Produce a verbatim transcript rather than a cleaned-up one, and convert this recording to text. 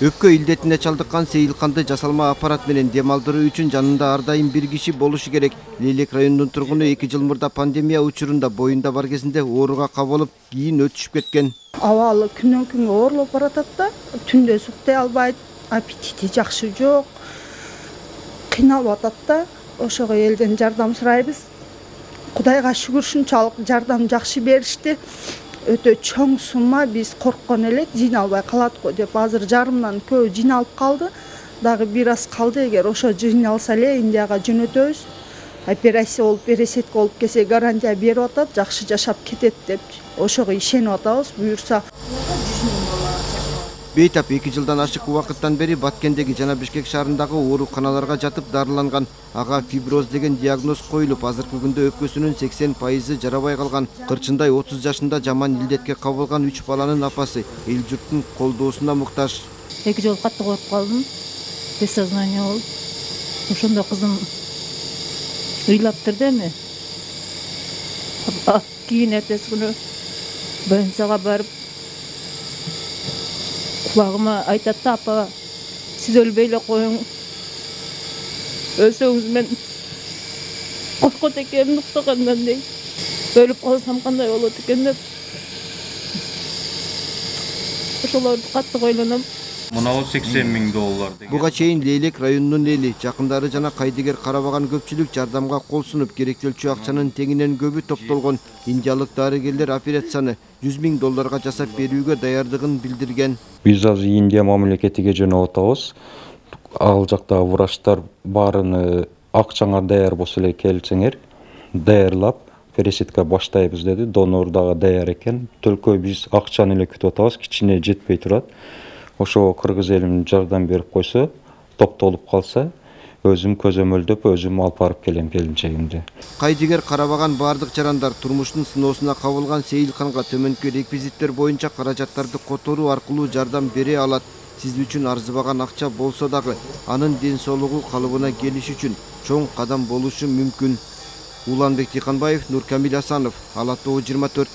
Өпкө илдетине чалдыккан Сейилканды жасалма аппарат менен дем алдыруу үчүн жанында ар дайым бир киши болушу керек. Лейлек районунун тургуну эки жыл мурда пандемия учурунда боюнда бар кезинде ооруга кабылып, кийин өтүшүп кеткен. Абалы күнөн күнгө оорлоп баратат да, түндө суктай албайт, аппетити жакшы жок. Кыйналып атат да. Ошого элден жардам сурайбыз. Кудайга шүгүр, ушунчалык жардам жакшы беришти. Өтө чоң сумма, биз корккон элек жыйналбай калат го деп. Азыр жарымдан көбү жыйналып калды. Дагы бир аз калды, эгер ошо жыйналса эле Индияга жөнөтөбүз. Операция болуп, пересетка болуп келсе гарантия берип атат, жакшы жашап кетет деп. Ошого ишенип атабыз, буюрса. Бейтап эки жылдан ашык убакыттан бери Баткендеги жана Бишкек шаарындагы ооруканаларга жатып дарыланган. Ага фиброз деген диагноз коюлуп, азыркы күндө өпкөсүнүн сексен пайызы жарабай калган. Кырчындай отуз жашында жаман илдетке кабылган үч баланын апасы эл журттун колдоосуна муктаж. Эки жолу катты коркуп калдым. Без сознания болуп. Ошондо кызым ыйлаптыр да эми. Кийин эртеси күнү больницага барып кулагыма айтат да, апа, сиз өлбөй эле коюң. Өлсөңүз мен коркот экенмин уктагандан дейт. Өлүп калсам кандай болот экен деп. Ошолорду катты ойлоном. Мынау сексен миң доллар деген. Буга чейин Лейлек районунун эли, жакындары жана кайдыгер карабаган көпчүлүк жардамга кол сунуп, керектелчү акчанын теңинен көбү топтолгон. Индиялык дарыгерлер операцияны жүз миң долларга жасап берүүгө даярдыгын билдирген. Биз азыр Индия мамлекетиге жөнөп атабыз. Ал жактагы врачтар баарыны акчаңар даяр болсо эле келсеңер, даярлап пересетка баштайбыз деди. Донор дагы даяр экен. Төлкө биз акчаны эле күтүп атабыз, кичине жетпей турат. Ошого кыргыз элим жардам берип койсо, топтолуп калса, өзүм көзөмөлдөп, өзүм алып барып келем келинчегимди. Кайдыгер карабаган бардык жарандар турмуштун сыноосуна кабылган Сейилканга төмөнкү реквизиттер боюнча каражаттарды которуу аркылуу жардам бере алат. Сиз үчүн арзыбаган акча болсо дагы, анын ден соолугу калыбына келиш үчүн чоң кадам болушу мүмкүн. Уланбек Тыйканбаев, Нуркамил Асанов, Ала Тоо жыйырма төрт.